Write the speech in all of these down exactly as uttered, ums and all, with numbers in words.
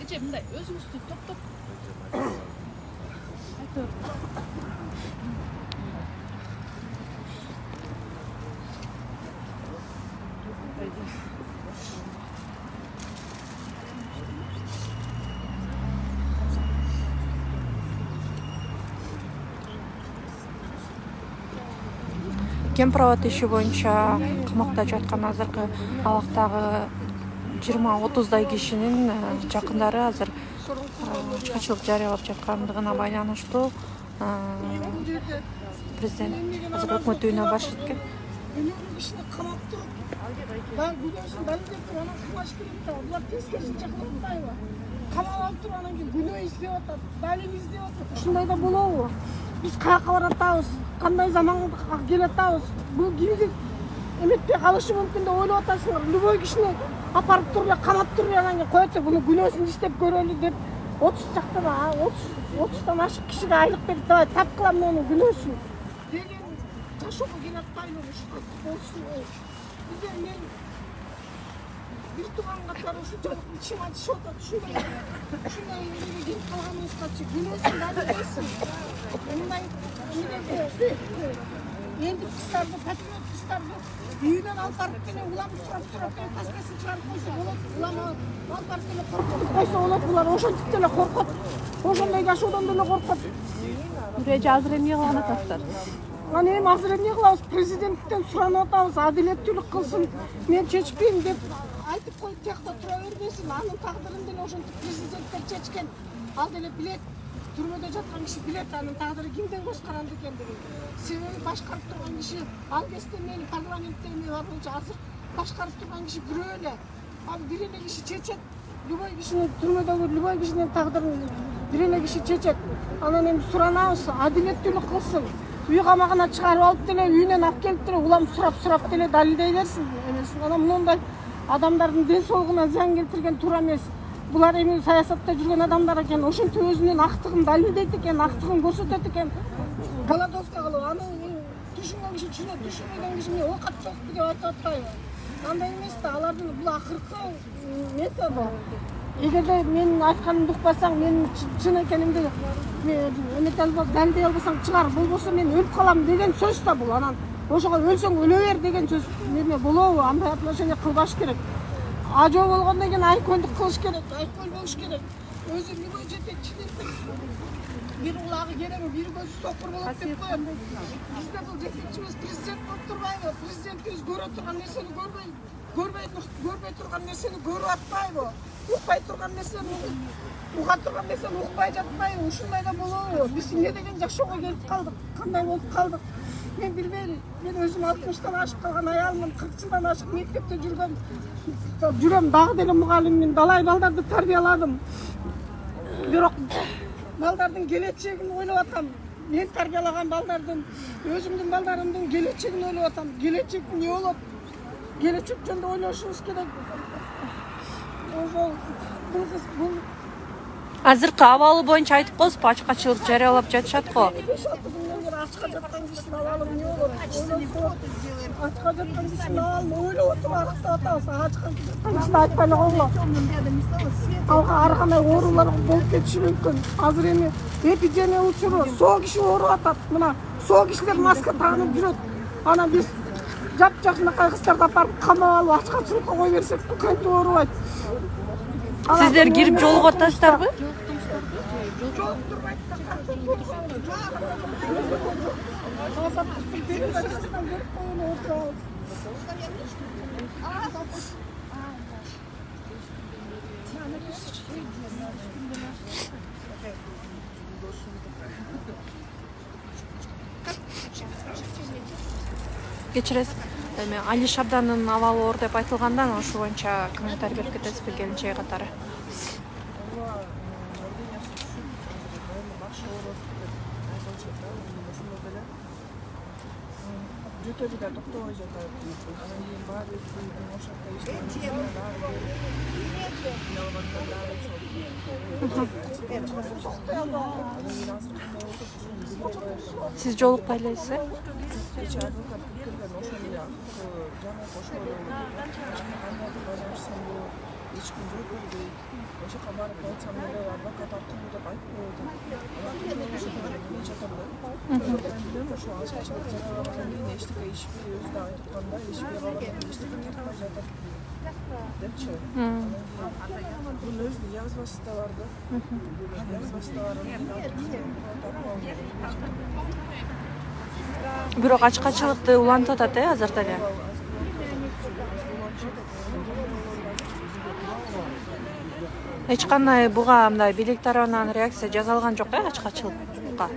эже мындай өзүңүздү топтоп Кемпироват иши боюнча камакта жаткан азыркы абактагы жыйырма отуздай кишинин жакындары азыр ачкачылык жарыялап жаткандыгына байланыштуу президент азыр өкмөт үйүнө баш эткен. Кишини камап туруп, баягы күнөөсүн далилдеп туруп, анан кылмаш керек да. Булар тескерисинче кылып атпайбы? Камап алып туруп, анан кийин күнөө издеп атат, далил издеп атат. Ушундай да болобу? Биз каяка баратабыз? Кандай заманга келатабыз? Бул кимди эметпей калышы мүмкүн деп ойлоп атасыңар. Любой кишини апарып туруп эле камап туруп анан кийин коет, буну күнөөсүн издеп көрөлү деп отуз жактан отуздан ашык кишиге айлык берип давай тап кылам менин күнөөсүн деген жашоого келатпайбы ушул болсун. Бизде мен бир тууган катары ушунчалык ичим ачышып атат, ушундай ушундай эмеге келип калганыбызгачы күнөөсүн далилдейсиң. Мындай элдик кыздарды, патриот кыздарды үйүнөн алып барып келе улам сурап сурап келе таскасын чыгарып койсо болот. Улам алып барып келе коркуп койсо болот. Булар ошентип деле коркот. Ошондой жашоодон деле коркот. Эже азыр эмне кылган атасыздар? Анан эми азыр эмне кылабыз? Президенттен суранып атабыз, адилеттүүлүк кылсын, мен чечпейм деп айтып коюп тиякта тура бербесин. Анын тагдырын деле ошентип президенттер чечкен. Ал деле билет. Түрмөдө жаткан киши билет анын тагдыры кимден көз каранды экендигин. Себеби башкарып турган киши ал кезде мени парламентте эме бар болчу, азыр башкарып турган киши бирөө эле. Ал бир эле киши чечет. Любой кишинин түрмөдөгү любой кишинин тагдырын бир эле киши чечет. Анан эми суранабыз, адилеттүүлүк кылсын. Үй камагына чыгарып алып деле, үйүнөн алып келип деле улам сурап-сурап деле далилдей берсин эмесин. Анан мындай адамдардын ден соолугуна зыян келтирген туура эмес. Булар эми саясатта жүргөн адамдар экен, ошентип өзүнүн актыгын далилдейт экен, актыгын көрсөтөт экен. Голодовка кылып, аны түшүнгөн киши түшүнөт, түшүнбөгөн киши эмне оокат жокпу деп айтып атпайбы? Андай эмес да, алардын бул акыркы методу. Эгерде менин айтканымды укпасаң, менин чын экенимди эмете албасаң, далилдей албасаң чыгар, болбосо мен өлүп калам деген сөз да бул. Анан ошого өлсөң өлө бер деген сөз неме болобу? Андай отношение кылбаш керек. Ажоо болгондон кийин айкөндүк кылыш керек, айкөл болуш керек. Өзү любой жетекчилик бир улагы кереби, бир көзү сокур болот деп коет. Бизде бул жетекчибиз президент болуп турбайбы? Президентибиз көрө турган нерсени көрбөй, көрбөй көрбөй турган нерсени көрүп атпайбы? Укпай турган нерсени уга турган нерсени укпай жатпайбы? Ушундай да болобу? Биз эмне деген жашоого келип калдык? Кандай болуп калдык? Мен билбейм. Мен өзүм алтымыштан ашып калган аялмын, кырк жылдан ашык мектепте жүргөн. Жүрөм, дагы деле мугалиммин, далай балдарды тарбияладым. Бирок балдардын келечегин ойлоп атам. Мен тарбиялаган балдардын, өзүмдүн балдарымдын келечегин ойлоп атам. Келечек эмне болот? Келечек жөнүндө ойлошубуз керек. Ошол бул кыз бул Азыркы абалы боюнча айтып коесузбу, ачкачылык жарыялап жатышат го. Ачка жаткан кишинин абалы эмне болот? Ачка жаткан кишинин абалын ойлоп отуруп аныктап атабыз. Ачка жаткан кишини айтпай эле койгула. Алга ар кандай оорулар болуп кетиши мүмкүн. Азыр эми эпидемия учуру, соо киши ооруп атат. Мына соо кишилер маска тагынып жүрөт. Анан биз жап-жакынакай кыздарды апарып камап алып ачкачылыкка кое берсек, кантип оорубайт? Сиздер кирип жолугуп атасыздарбы? Кечиресиз. Эми Али Шабдандын абалы оор деп айтылгандан ошол боюнча комментарий берип кетесизби келинчеги катары? Жөтөдү да токтобой жатат. Анан кийин баары өтпөйдү, ошакта иштеп. Сиз жолукпай элесизби? Кечээ адвокат пикирден ошол эле жана кошо эч ким жооп бербейт. Ошол жака барып айтсам эле адвокат аркылуу деп айтып коет. Мен жатам да. Мен билем ошо ашкачылык жаралагандан кийин эчтеке ишпей өзү да айтып атканда ишпей калган эчтеке тартпай жатат депчи. Бунун өзүнүн язмасы да бар да. Язмасы да бар. Бирок ачкачылыкты улантып атат э азыр деле. Эч кандай буга мындай бийлик тарабынан реакция жасалган жок э ачкачылыкка.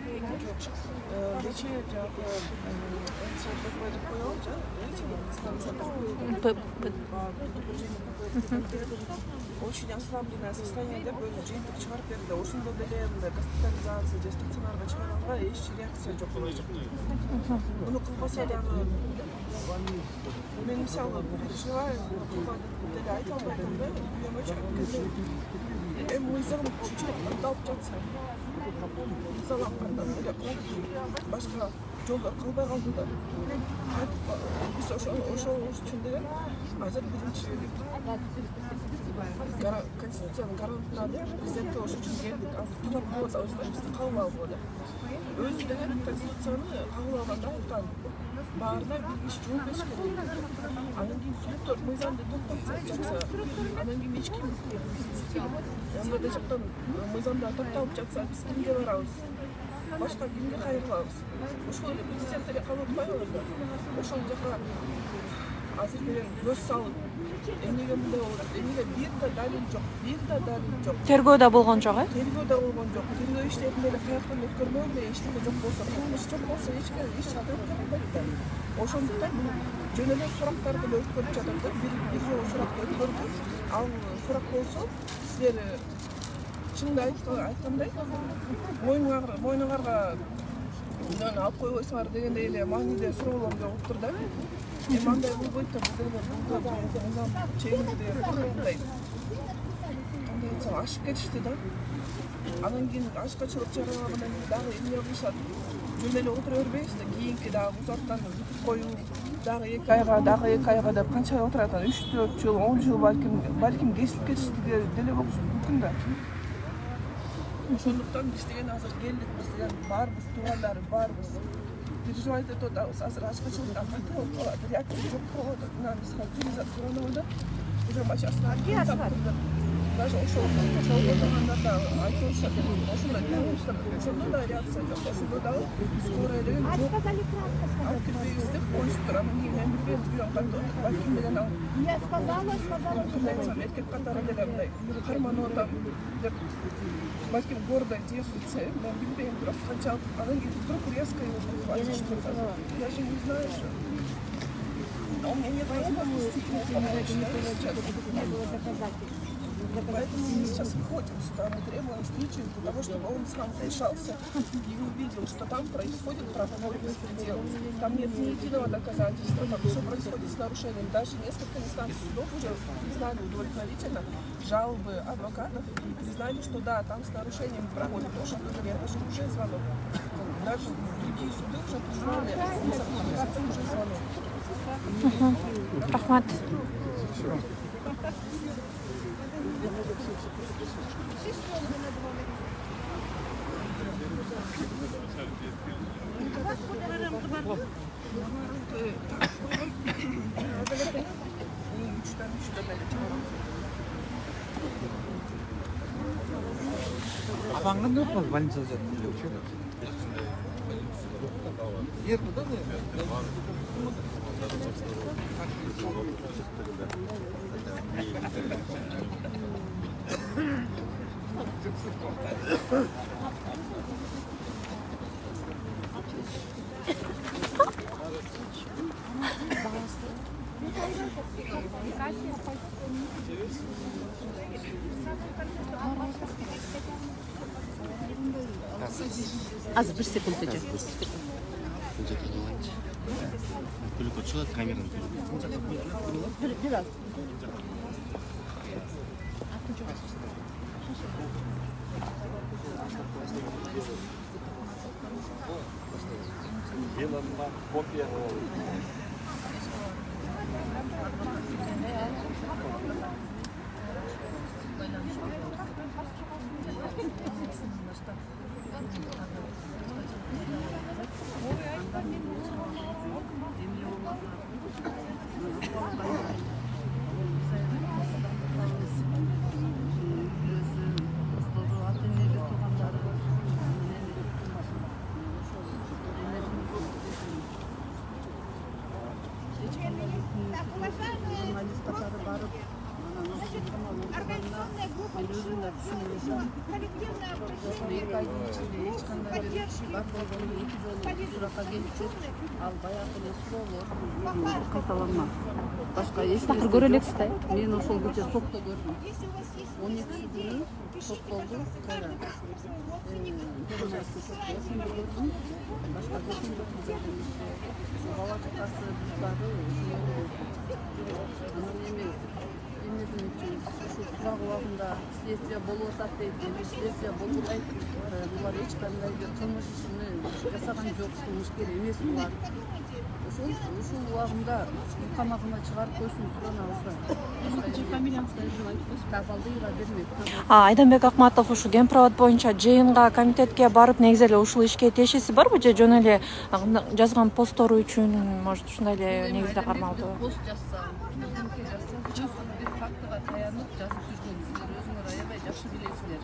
Очень ослабленное состояние деп өзү жыйынтык чыгарып берди. Ошондо деле мындай госпитализация же стационарга чыгарганга эч реакция жок болчу. Муну кылбаса дагы мен мисалы переживаю, деле айта албайм да. Эми мыйзам чечип алып жатса, мыйзалап кандай деле башка жолдор калбай калды да. Биз ошол ошол үчүн деле азыр биринчи Конституциянын гарантына президентке ошол үчүн келдик. Азыр талап кылып атабыз, кабыл алгыла деп. Өзү деле Конституцияны кабыл алганда айткан. Баарына бир киши жооп бериш керек. Анан кийин соттор мыйзамды токтотуп жатса, анан кийин эч ким анда жактан мыйзамда токтолуп жатса, биз кимге барабыз? Башка кимге кайрылабыз? Ошол эле президент деле кабыл албайбы да? Ошол жака азыр деле көз салып, эмнеге мындай болуп атат? Эмнеге бир да далил жок, бир да далил жок. Тергөө да болгон жок э? Тергөө да болгон жок. Тергөө иштерин деле каяктан өткөрмөдү, эчтеке жок болсо, кылмыш жок болсо эч ким эч жакка өткөрбөйт да. Ошондуктан жөн эле сурактар деле өткөрүп жатат да. Бир бир жолу суракты өткөрдү. Ал сурак болсо, силер чынды айткандай, мойнуңарга мойнуңарга мынаны алып койбойсуңар дегендей эле мааниде суроолор болуптур да. Эми андай болбойт да, бул деле мыйзам чегинде мындай кандай айтсам ашып кетишти да. Анан кийин ашкачылык жаралагандан кийин дагы эмне кылышат? Жөн эле отура бербейбиз да, кийинки дагы узартаны бүтүп коюу, дагы эки айга, дагы эки айга деп канча отурат? үч төрт жыл, он жыл балким, балким кесилип кетишти деле болушу мүмкүн да. Ошондуктан биз деген азыр келдик, биз деген барбыз, туугандары барбыз. Переживать этип атабыз, азыр ачкачылыкка кантип болуп калат, реакция жок болуп атат. Мына биз суранып да, уже машинасына даже ошол ошол болгондарда айтып атышат, ошондой кылышат, ошондо да реакция жок, ошондо дагы скорая деген жок. Алып кирбейбиз деп коюшуптур. Анан кийин мен билбейм, билбейм кантип балким деген ал. Я сказала, сказала, эркек катары деле мындай карманып атам деп балким гордо держится, мен билбейм, бирок канчалык анан кийин вдруг резко его прихватишь. Я же не знаю, что у меня нет возможности сейчас. Поэтому мы сейчас выходим сюда, мы требуем встречи для того, чтобы он сам решался и увидел, что там происходит правовой беспредел. Там нет ни единого доказательства, там все происходит с нарушением. Даже несколько инстанций судов уже признали удовлетворительно жалобы адвокатов и признали, что да, там с нарушением проводят. Потому что это же уже звонок. Даже другие суды уже признали, это уже звонок. Рахмат. Апаңның жоқ па больницада жатыр? Ерді да, Азыр бир секунд эже. Только чыгат камерадан. Бир бир аз. Белая копия. эки айдын ичинде эч кандай бир бар болгону эки жолу суракка келчү, ал баягы эле суроолор кайталанмак. Башка эч такыр көрө элексиз да? Мен ошол кече сотто көрдүм. он экиси күнү сот болду. Кайра. Журналистти сотто ошондо көрдүм. Башка жокун жок жерден. Бала чакасы баары анан эми эмнеден үчүн ушу сурак убагында следствие болуп атат дейт, эми следствие болбойт. Булар эч кандай бир кылмыш ишини жасаган жок, кылмышкер эмес булар. Ошол ушул убагында камагына чыгарып койсун суранабыз да. Фамилияңызды айтып Тафалдыева Бермек. А Айданбек Акматов ушу Генпровод боюнча жыйынга, комитетке барып негизи эле ушул ишке тиешеси барбы же жөн эле жазган посттору үчүн, может, ушундай эле негизде кармалдыбы? Пост жазса, бирдемке жазса, чын бир фактыга таянып жазып жүргөн. Силер өзүңөр аябай жакшы билесиздер.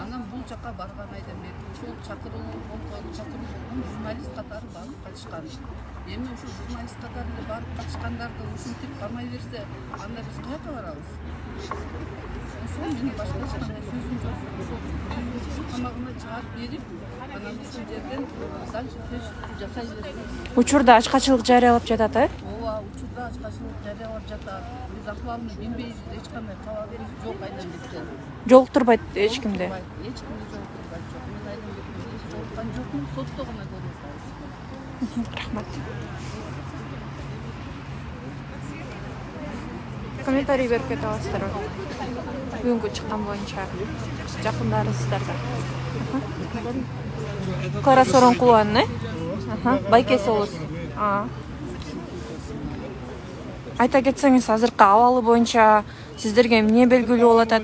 Анан бул жака барган Айданбек ошол чакырылуу болгон, чакыруу болгон журналист катары барып катышкан. Эми ушул журналист катары эле барып катышкандарды ушинтип кармай берсе, анда биз каяка барабыз? Ошол менин башка эч кандай сөзүм жок. Ошол камагына чыгарып берип, анан ушул жерден дальше жасай берсин. Учурда ачкачылык жарыялап жатат, э? Ооба, учурда ачкачылык жарыялап жатат. Биз акыбалыны билбейбиз, эч кандай кабарыбыз жок Айданбектен. Жолуктурбайт эч кимди. Эч кимди жолуктурбайт жок. Мен Айданбектен эч жолуккан жокмун, сотто гана көрүп атабыз. Рахмат. Комментарий берип кете аласыздарбы? Бүгүнкү чыккан боюнча жакындарыңыздарда. Кара Сооронкулованын, э? Байкеси болосуз. Айта кетсеңиз, азыркы абалы боюнча сиздерге эмне белгилүү болуп атат?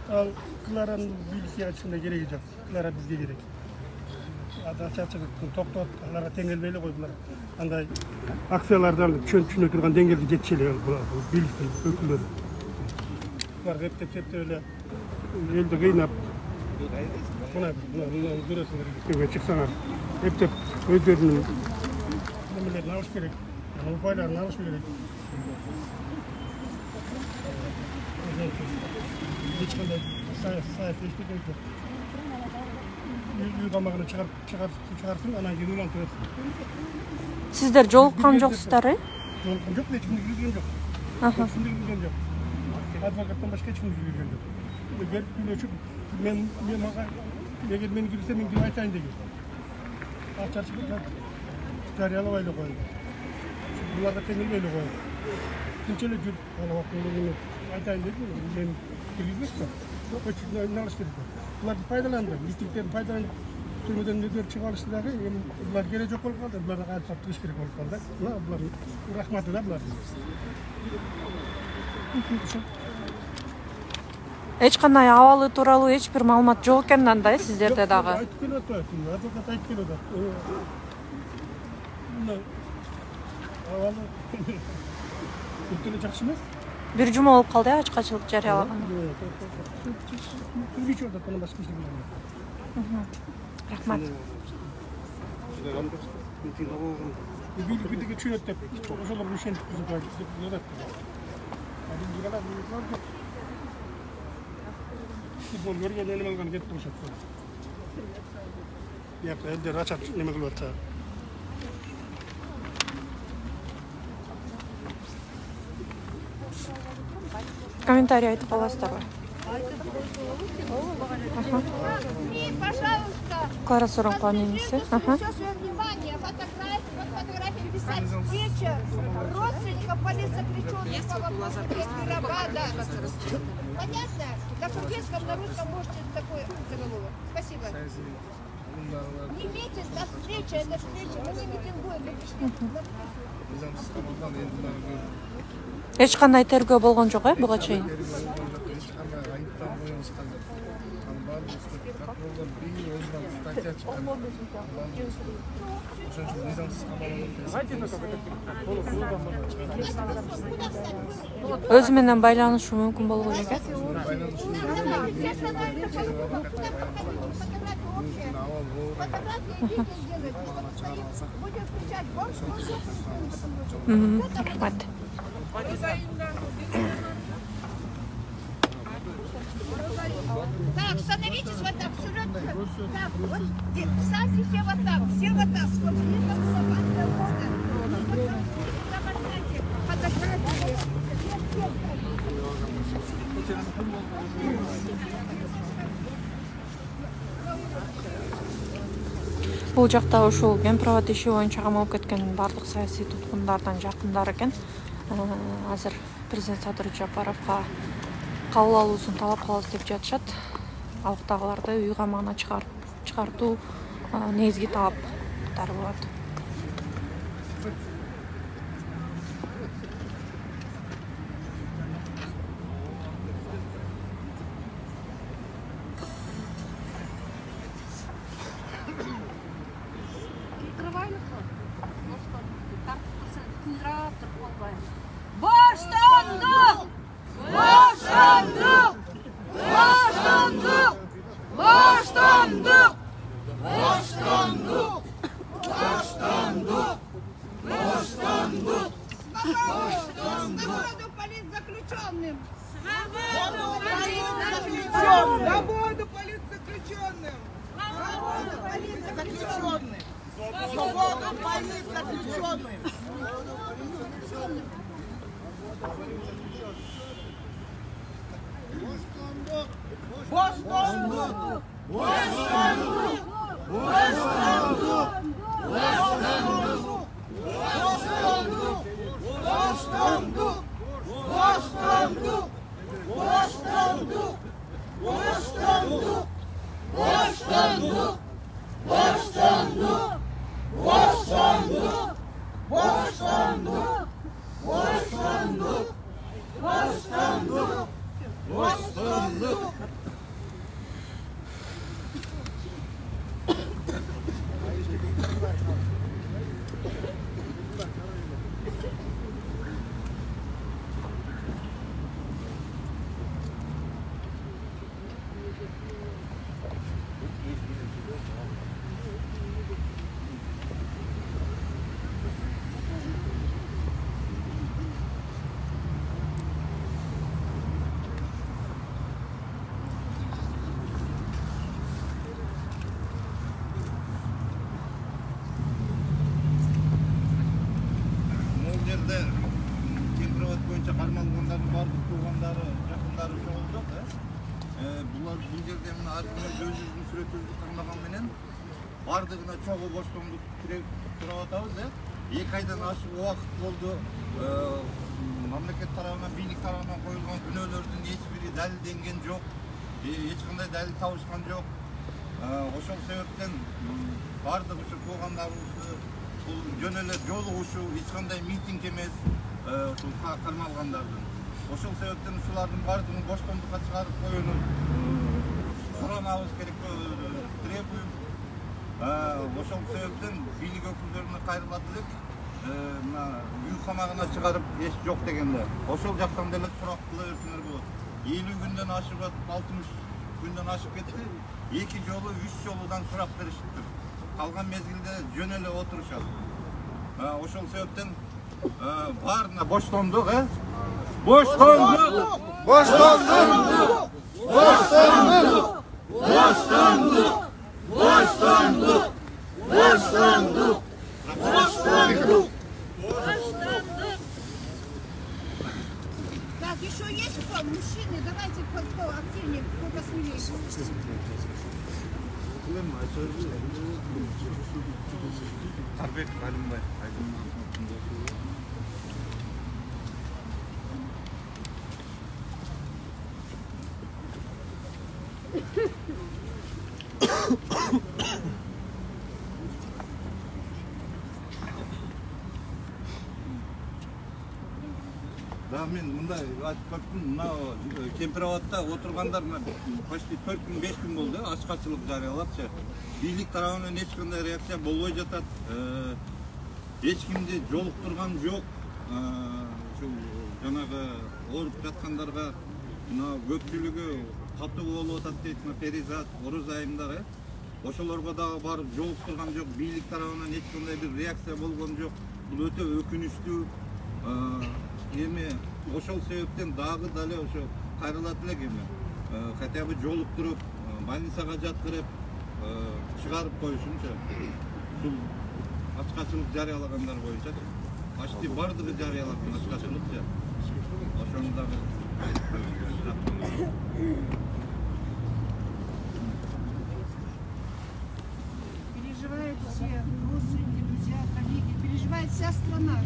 Ал Кларанын билгиси ачканда кереги жок. Клара бизге керек. Ача-ача токтот, аларга теңелбей эле кой булар. Андай акциялардан чөнчүнө турган деңгээлге жетиши эле билгиси өкүлдөрү. Булар эптеп-эптеп эле элди кыйнап, мына көрөсүңөр, көбө чыксаңар, эптеп өздөрүнүн немелерин алыш керек. Упайларын алыш керек. Эч кандай саясат эчтеке жок. Үй камагына чыгарсын, анан кийин уйлантып берсин. Сиздер жолуккан жоксуздар, э? Жолуккан жок, эч кимди жүргөн жок. Аха. Эч кимди жүргөн жок. Адвокаттан башка эч кимди жүргөн жок. Берип күйлөчүп, мен мен мага эгер мени кирсе мен ким айтайын деген. Ачачы жарыялабай эле коюн. Буларга теңелбей эле коюн. Тинч эле жүр, ана вакытында айтайын дедим, мен киргизбешпи? Өчүн алыш керек. Буларды пайдаланды, митингдерди пайдаланып, түрмөдөн өздөрү чыгып алышты дагы, эми булар кереги жок болуп калды, буларга кайтып туруш керек болуп калды. Мына булар рахматы да булар. Эч кандай абалы тууралуу эч бир маалымат жок экен анда, э, сиздерде дагы. Айтып келип атат, адвокат айтып келип атат. Мына абалы өтө жакшы эмес. Бир жума болуп калды, ачкачылык жарыялаган. Түргүчү атат, анан башка эч нерсе болбойт. Рахмат. Бирдеге чүйөт деп, ошолор ишентип жатат. Футбол көргөн эле алган кетип турушат. Бияка элдер ачап неме кылып атат. Комментарий айтып каласыздарбы? Пожалуйста. Кара Сооронкулованын иниси. Аха. Все свое внимание, фотографии, вот фотографии писать встреча родственников политзаключенных по вопросу Мирабада. Понятно? На турецком, на русском можете такой заголовок. Спасибо. Не имейте, это встреча, это встреча, мы не митингуем, мы пришли. Эч кандай тергөө болгон жок, э, буга чейин? Bir özünden statiya çıkan. Ошончо низамсыз камалып Өзү менен байланышы мүмкүн болбойт экен. Рахмат. Так, становитесь вот так, вперед. Так, вот, встаньте все вот так, все вот так, чтобы не было собаки. Фотографии. Бул жакта ушул Генпровод иши боюнча камалып кеткен барлык саясий туткундардан жакындар экен. Азыр президент Садыр Жапаровго кабыл алуусун талап кылабыз деп жатышат. Алыктагыларды үй камагына чыгартуу негизги талаптары болот. Баштандык! Баштандык! Баштандык! Баштандык! Баштандык! Баштандык! Баштандык! Свободу политзаключенным! Свободу политзаключенным! Свободу политзаключенным! Свободу политзаключенным! Свободу политзаключенным! Баштандык! Баштандык! Баштандык! Баштандык! Баштандык! Баштандык! Баштандык! Баштандык! Баштандык! Баштандык! Баштандык! Баштандык! Баштандык! Баштандык! Генпровод боюнча кармалгандардын бардык туугандары, жакындары чогулдук. Булар бул жерде мына ар ким өз өзүнүн сүрөтүбүздү кармаган менен бардыгына чогуу боштондук тиреп туруп атабыз. эки айдан ашык убакыт болду. Мамлекет тарабынан, бийлик тарабынан коюлган күнөөлөрдүн эч бири далилденген жок. Эч кандай далил табышкан жок. Ошол себептен бардык ушу туугандарыбызды бул жөн эле жолугушуу, эч кандай митинг эмес, ушул кармалгандардын. Ошол себептен ушулардын бардыгын боштондукка чыгарып коюуну сурамабыз керек требуем. Ошол себептен бийлик өкүлдөрүнө кайрылат элек, мына үй камагына чыгарып эч жок дегенде. Ошол жактан деле сурак кыла берсеңер болот. элүү күндөн ашып атып, алтымыш күндөн ашып кетти. Эки жолу, үч жолудан сурак беришиптир. Калган мезгилде жөн эле отурушат. Ошол себептен баарына боштондук, э? Боштондук! Боштондук! Боштондук! Боштондук! Боштондук! Боштондук! Боштондук! Так, еще есть кто? Мужчины, давайте кто активнее, кто посмелее. Арбек Алимбай. Да, мен мындай айтып көрдүм, мына Кемпирабадда отургандар почти төрт күн беш күн болду ачкачылык жарыялапчы. Бийлик тарабынан эч кандай реакция болбой жатат. Эч кимди жолуктурган жок. Ушул жанагы ооруп жаткандарга мына көпчүлүгү катуу болуп атат дейт, перизат, оруз айымдары. Ошолорго дагы барып жолуктурган жок. Бийлик тарабынан эч кандай бир реакция болгон жок. Бул өтө өкүнүчтүү. Эми ошол себептен дагы дале ошо кайрылат элек эми. Хотя бы жолуктуруп, больницага жаткырып, чыгарып коюшунчу. Бул ачкачылык жарыялагандар боюнча почти бардыгы жарыялаган ачкачылыкчы. Ошону дагы переживают все родственники, друзья, коллеги, переживает вся страна,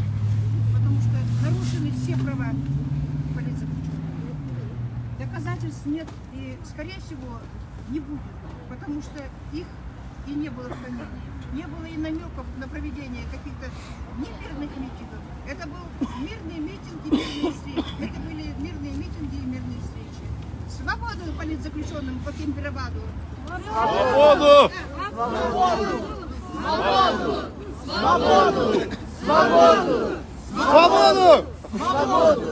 потому что нарушены все права политзаключенных. Доказательств нет и, скорее всего, не будет, потому что их и не было в стране. Не было и намеков на проведение каких-то мирных митингов. Это был мирный митинг и мирные встречи. Это были мирные митинги и мирные встречи. Свободу политзаключенным по Кемпирабаду! Свободу! Свободу! Свободу! Свободу! Свободу! Свободу!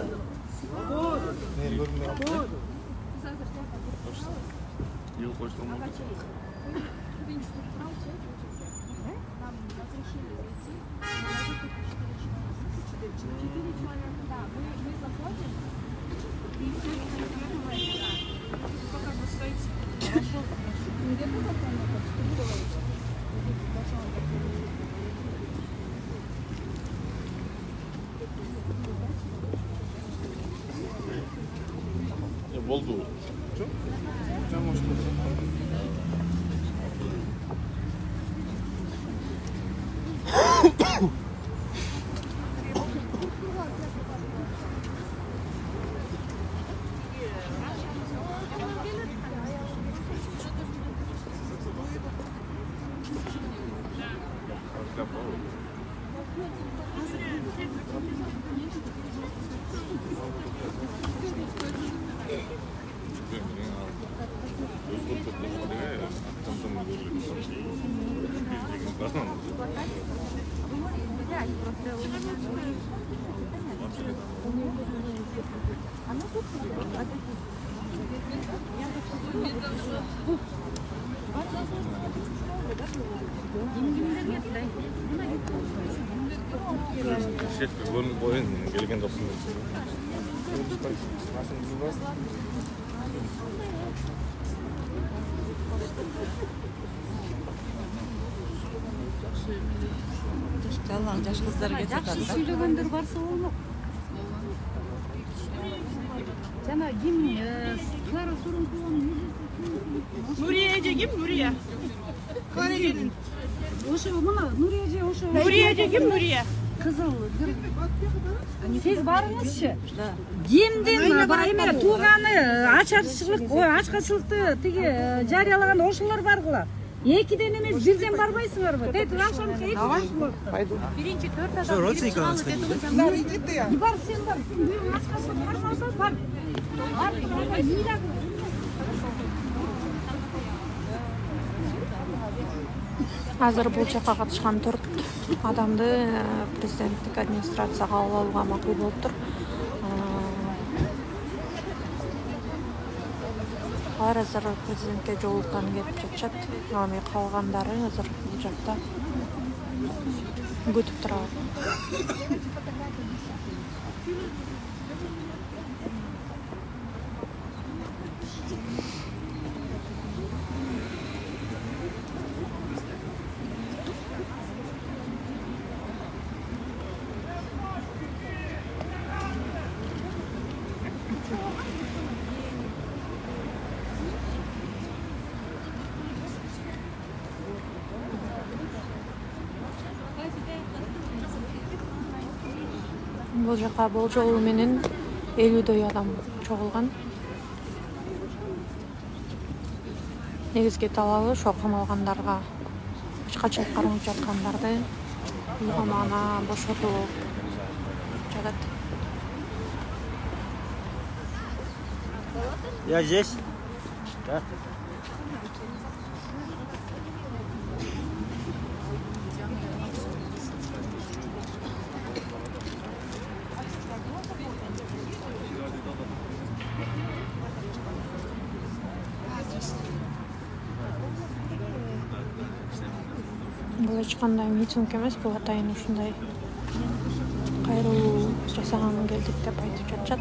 Болду. Шетке көрүнүп коюн, келген досум. Жалаң жаш кыздар кетип атат. Жакшы сүйлөгөндөр барса болмок. Жана ким Клара Сурункуланын Нурия эже ким? Нурия. Клара эже. Ошо мына Нурия эже ошо. Нурия эже ким? Нурия. Кызыл. Сиз барыңызчы. Кимдин эме тууганы ачарчылык, ой, ачкачылыкты тиги жарыялаган ошолор баргыла. Экиден эмес бирден барбайсыңарбы? Тетип акшамчы эки болот. Биринчи төрт адам. Родственник алыңыз. Бар сен бар. Сен бир ачкачылык бармаса бар. Бар. Азыр бул жакка катышкан төрт адамды президенттик администрацияга алып алууга макул болуптур. Алар азыр президентке жолуктан кетип жатышат. Аны калгандары азыр бул жакта күтүп турат. Бул жака болжол менен элүүдөй адам чогулган. Негизги талабы ошо камалгандарга, ачкачылык кармап жаткандарды камагына бошотуу жатат. Я здесь. Да. Бул эч кандай митинг эмес, бул атайын ушундай кайрылуу жасаган келдик деп айтып жатышат.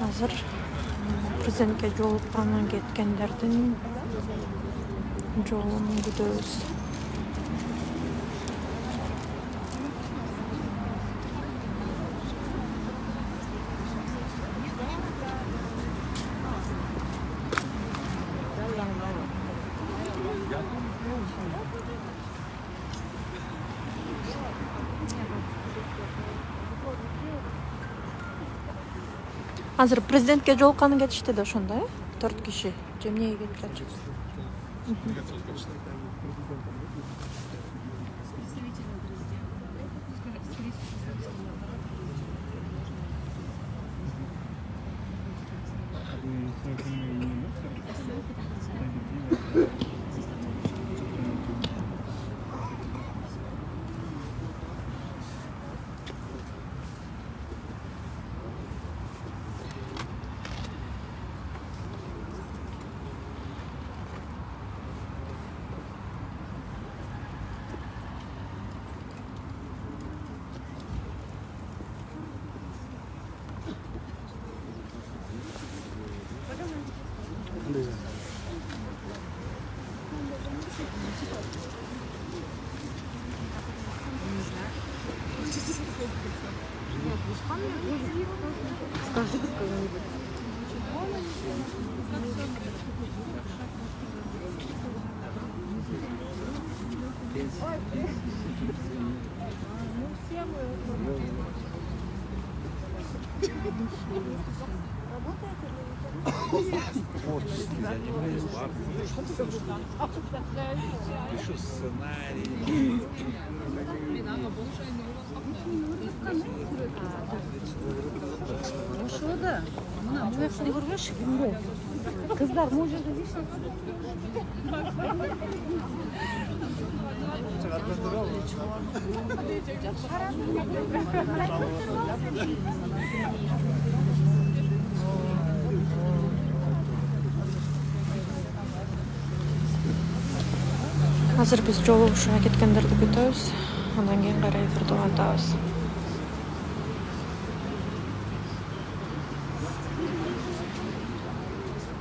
Азыр президентке жолуккандан кеткендердин жолун күтөбүз. Азыр президентке жолукканы кетишти да ошондо, э? төрт киши. Же эмнеге кетип жатышат? Пишу сценарий. Ошо да. Мына бул жактан көрбөшү кимде? Кыздар могу жерде дейшет. Азыр биз жолугушууга кеткендерди күтөбүз. Андан кийин кайра эфирди улантабыз.